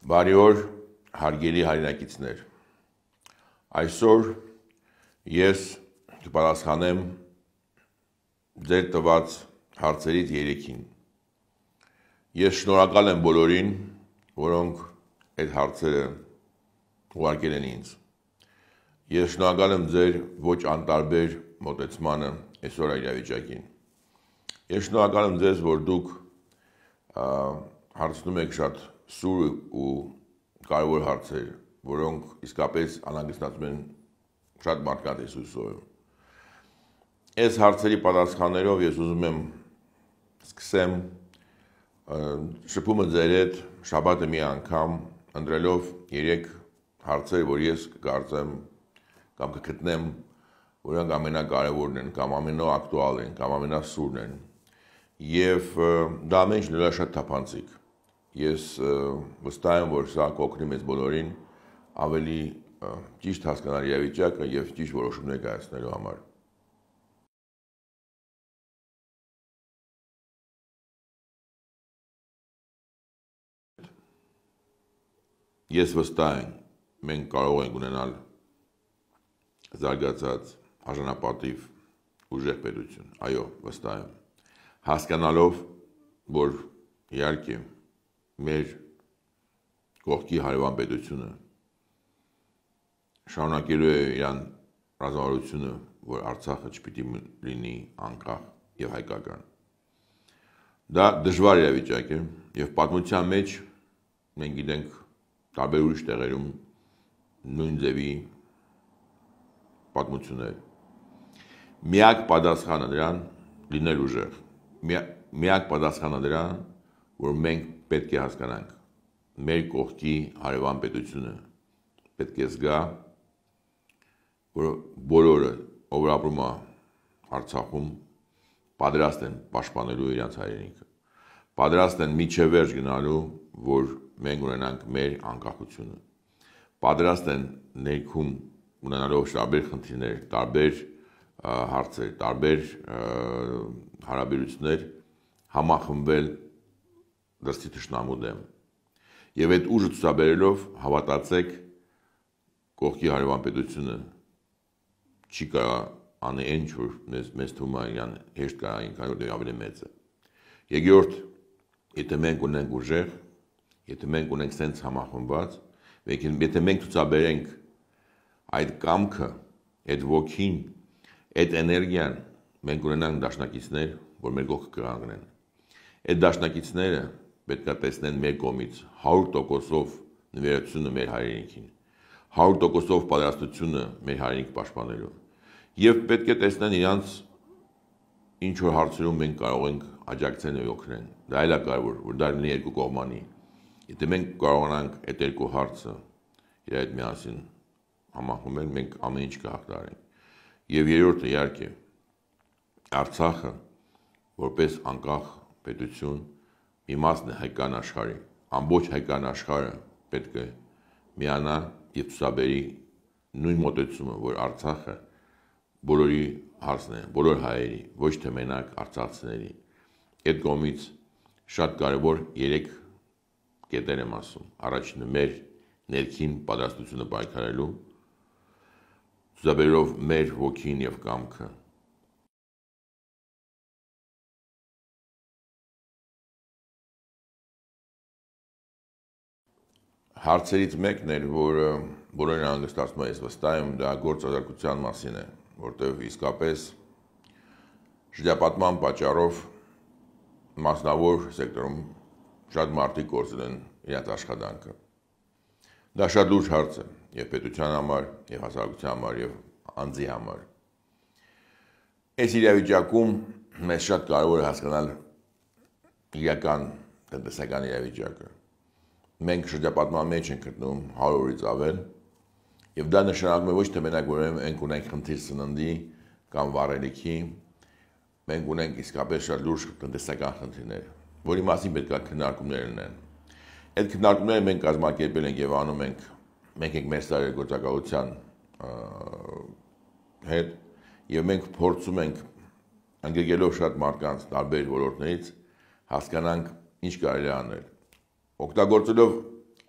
Բարի օր, հարգելի հայրենակիցներ։ Այսօր ես կպատասխանեմ ձեր տված հարցերից 3-ին։ Ես շնորհակալ եմ բոլորին, որոնք այդ հարցերը ուղարկել են ինձ։ Ես շնորհակալ եմ ձեր ոչ անտարբեր մոտեցմանը այսօր իրավիճակին։ Ես շնորհակալ եմ ձեզ, որ դուք հարցնում եք շատ սուր ու կարևոր հարցեր, որոնք իսկապես անհանգստացնում են շատ մարդկանց այսօր։ Այս հարցերի պատասխաններով ես ուզում եմ սկսեմ շփումը ձեր հետ շաբաթը մի անգամ ընտրելով 3 հարցեր, որ ես կարծեմ կամ կգտնեմ, որոնք ամենակարևորն են, կամ ամենաակտուալ են, կամ ամենասուրն են։ Եվ դա ամեն ինչ շատ թափանցիկ։ Ես վստահ եմ, որ սա կօգնի մեզ բոլորին ավելի ճիշտ հասկանալ իրավիճակը եւ ճիշտ որոշումներ կայացնելու համար։ Ես վստահ եմ, մենք կարող ենք ունենալ զարգացած արժանապատիվ ուժեղ պետություն։ Այո, վստահ եմ։ Հասկանալով, որ իհարկե մեր կողքի հարևան պետությունը շարունակելու է իրան ռազմավարությունը, որ Արցախը չպիտի լինի անկախ եւ հայկական։ Դա դժվար իրավիճակ է եւ պատմության մեջ մենք գիտենք տարբեր ուրիշ տեղերում նույն ձևի պատմություններ։ Միակ պատասխանը դրան լինել ուժեղ։ Միակ պատասխանը դրան, որ մենք պետք է հասկանանք մեր կողքի հարևան պետությունը պետք է զգա, որ բոլորը, ով ապրում է Արցախում, պատրաստ են պաշտպանելու իրենց հայրենիքը, պատրաստ են միջև վերջ գնալու, որ մենք ունենանք մեր անկախությունը, պատրաստ են ներքում ունենալով տարբեր խնդիրներ, տարբեր հարցեր, տարբեր հարաբերություններ համախմբվել դրսի թշնամու դեմ։ Եվ այդ ուժը ցուցաբերելով հավատացեք կողքի հարևան պետությունը չի կարող անել ինչ որ մեզ թվում է իրան հեշտ կարող ինքան որ ավելի մեծ է։ Երկրորդ, եթե մենք ունենք ուժեղ, եթե մենք ունենք sense համախմբված, եթե մենք ցուցաբերենք այդ կամքը, այդ ոգին, այդ էներգիան, մենք ունենանք դաշնակիցներ, որ մեր կողքը կանգնեն։ Այդ դաշնակիցները պետք է տեսնեն մեր կողմից 100%-ով նվիրատվությունը մեր հայրենիքին, 100%-ով պատրաստությունը մեր հայրենիք պաշտպանելու։ Եվ պետք է տեսնեն իրանց ինչ որ հարցերում մենք կարող ենք աջակցել եւ օգնել։ Դա էլ է կարևոր, որ դա լինի երկու կողմանի։ Եթե մենք կարողանանք այդ երկու հարցը իր հետ միասին համախմբել, մենք ամեն ինչ կհաղթահարենք։ Եվ երրորդը իհարկե Արցախը որպես անկախ պետություն մի մասն է հայկական աշխարհի, ամբողջ հայկական աշխարհը պետք է միանա եւ ցուցաբերի նույն մոտեցումը, որ Արցախը բոլորի հարցն է, բոլոր հայերի, ոչ թե մենակ արցախցիների։ Այդ կողմից շատ կարևոր 3 կետեր եմ ասում։ Առաջինը մեր ներքին պատրաստությունը պայքարելու, ցուցաբերելով մեր ոգին եւ կամքը։ Հարցերից մեկն էր, որ բոլորին հանգստացնում է, ես վստահ եմ, դա գործազրկության մասին է, որտեղ իսկապես շրջապատման պատճառով մասնավոր սեկտորում շատ մարդիկ կորցրել են իրենց աշխատանքը։ Դա շատ լուրջ հարց է եւ պետության համար, եւ հասարակության համար, եւ անձի համար։ Այս իրավիճակում մեզ շատ կարևոր է հասկանալ իրական տնտեսական իրավիճակը։ Մենք շրջապատման մեջ ենք գտնվում 100 օրից ավել, եւ դա նշանակում է ոչ թե մենակ որ մենք ունենք խնդիր սննդի կամ վառելիքի, մենք ունենք իսկապես շատ լուրջ տնտեսական խնդիրներ, որի մասին պետք է քննարկումներ լինեն։ Այդ քննարկումները մենք կազմակերպել ենք եւ անում ենք, մենք ենք մեր ստարեգործակալության հետ եւ մենք փորձում ենք անգրկելով շատ մարդկանց տարբեր ոլորտներից հասկանանք ինչ կարելի է անել։ Օգտագործելով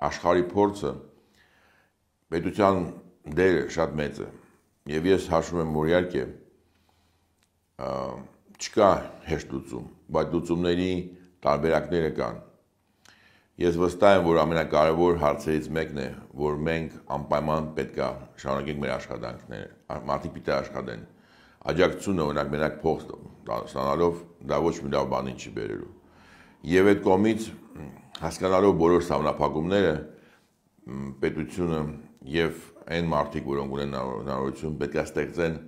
աշխարհի փորձը պետության դերը շատ մեծ է եւ ես հաշվում եմ, որ իհարկե չկա հեշտ լուծում, բայց լուծումների տարբերակները կան։ Ես վստահ եմ, որ ամենակարևոր հարցերից մեկն է, որ մենք անպայման պետք է շարունակենք մեր աշխատանքները, մարդիկ պիտի աշխատեն։ Աջակցությունը, օրինակ, մենակ փող ստանալով դա ոչ մի լավ բանի չի բերելու։ Եվ այդ կողմից հասկանալով բոլոր սահմանափակումները, պետությունը եւ այն մարդիկ, որոնք ունեն հնարավորություն, պետք է ստեղծեն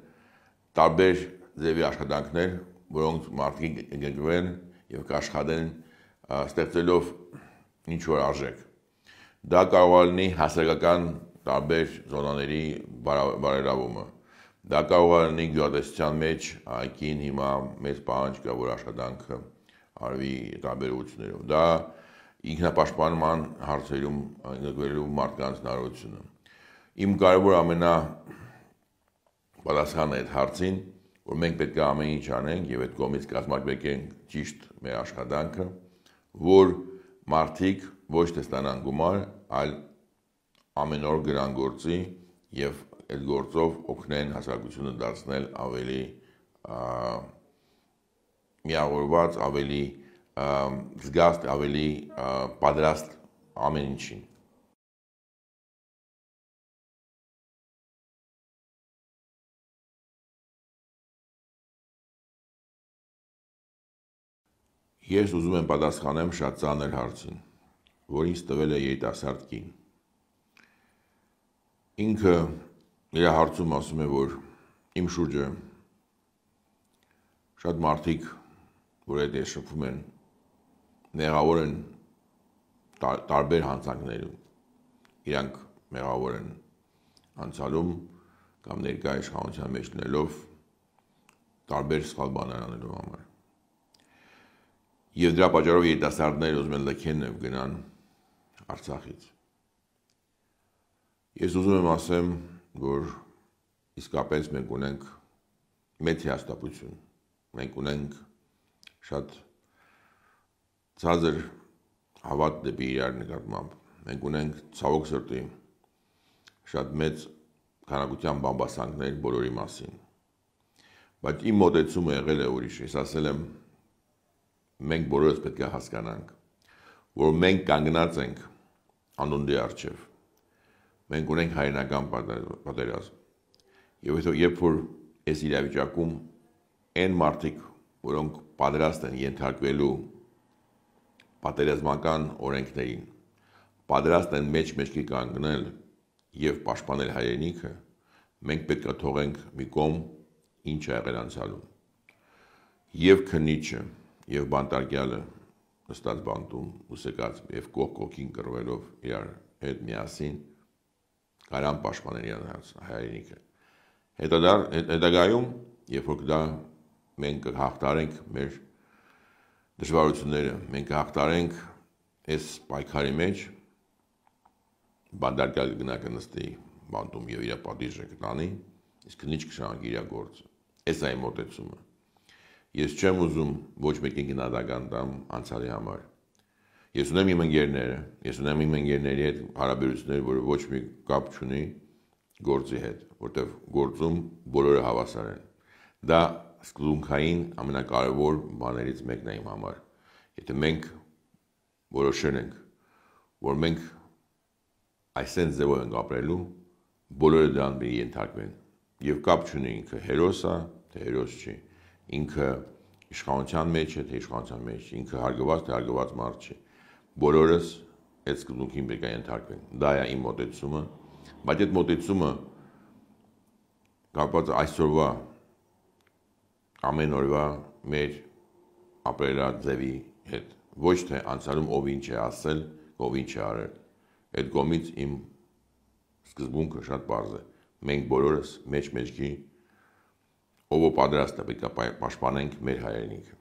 տարբեր ձևի աշխատանքներ, որոնք մարդիկ կգրկվեն եւ կաշխատեն ստեղծելով ինչ-որ արժեք։ Դա կարող է լինի հասարակական տարբեր զոնաների բարելավումը։ Դա կարող է լինի գյուղատնտեսության մեջ այգին հիմա մեծ պահանջ կա, որ աշխատանքը արվի տարբեր ուղղություններով։ Դա ինքնապաշտպանման հարցերում ընդգրկվելու մարդկանց հնարավորությունը։ Իմ կարևոր պատասխանը այդ հարցին, որ մենք պետք է ամեն ինչ անենք եւ այդ կողմից կազմակերպենք ճիշտ մեր աշխատանքը, որ մարդիկ ոչ թե ստանան գումար, այլ ամեն օր գրան գործի եւ այդ գործով օգնեն հասարակությունը դարձնել ավելի միավորված, ավելի զգաստ, ավելի պատրաստ ամեն ինչին։ Ես ուզում եմ պատասխանեմ շատ ծանր հարցին, որ ինձ տվել է երիտասարդ կին։ Ինքը իր հարցում ասում է, որ իմ շուրջը շատ մարդիկ, որ այդ շփվում են, մեղավոր են տարբեր հանցանքներում, իրանք մեղավոր են անցյալում կամ ներկա իշխանության մեջ լինելով տարբեր սխալ բաներ անելու համար։ Եվ դրա պատճառով երիտասարդները ուզում են լքեն եւ գնան Արցախից։ Ես ուզում եմ ասեմ, որ իսկապես մենք ունենք մեծ հաստատություն։ Մենք ունենք շատ ցածր հավատ դեպի իրար նկատմամբ։ Մենք ունենք ցավոք սրտի շատ մեծ քանակության բամբասանքներ բոլորի մասին։ Բայց իմ մոտեցումը եղել է ուրիշ։ Ես ասել եմ, մենք բոլորս պետք է հասկանանք, որ մենք կանգնած ենք անունդի առջև։ Մենք ունենք հայրենական պատերազմ։ Եվ երբ որ այս իրավիճակում այն մարդիկ, որոնք պատրաստ են ենթարկվելու պատերազմական օրենքներին, պատրաստ են մեջքի կանգնել եւ պաշտպանել հայրենիքը, մենք պետք է թողենք մի կողմ ինչ ա եղել անցյալում։ Եվ քննիչը եւ բանտարկյալը նստած բանտում ուսեկած եւ կողքին կռվելով իրար հետ միասին կարան պաշտպանել իրար հայրենիքը։ Հետագայում, երբ որ դա մենք կհաղթարենք մեր դժվարությունները, մենք կհաղթարենք այս պայքարի մեջ, բանտարկյալը գնա կնստի բանտում եւ իր պատիժը կտանի, իսկ քննիչ կշարունակի իր գործը։ Այս է մոտեցումը։ Ես չեմ ուզում ոչ մեկին գնահատական տամ անցյալի համար։ Ես ունեմ իմ ընկերները, ես ունեմ իմ ընկերների հետ հարաբերություններ, որը ոչ մի կապ չունի գործի հետ, որտեղ գործում բոլորը հավասար են։ Դա սկզբունքային ամենակարևոր բաներից մեկն է իմ համար։ Եթե մենք որոշել ենք, որ մենք այսպես ձևով ենք ապրելու, բոլորը դրան մի ենթարկվեն։ Եվ կապ չունի ինքը հերոս է, թե հերոս չի։ Ինքը իշխանության մեջ է, թե իշխանության մեջ, ինքը հարգված, թե հարգված մարդ չի։ Բոլորս այդ սկզբունքին պետք է ենթարկվենք։ Դա է իմ մոտեցումը, բայց այդ մոտեցումը կապված այսօրվա ամեն օրվա մեր ապրելաձևի հետ, ոչ թե անցյալում ով ինչ է ասել, ով ինչ է արել։ Այդ կողմից իմ սկզբունքը շատ պարզ է։ Մենք բոլորս մեջքի ով պատրաստ է պետք է պաշտպանենք մեր հայրենիքը։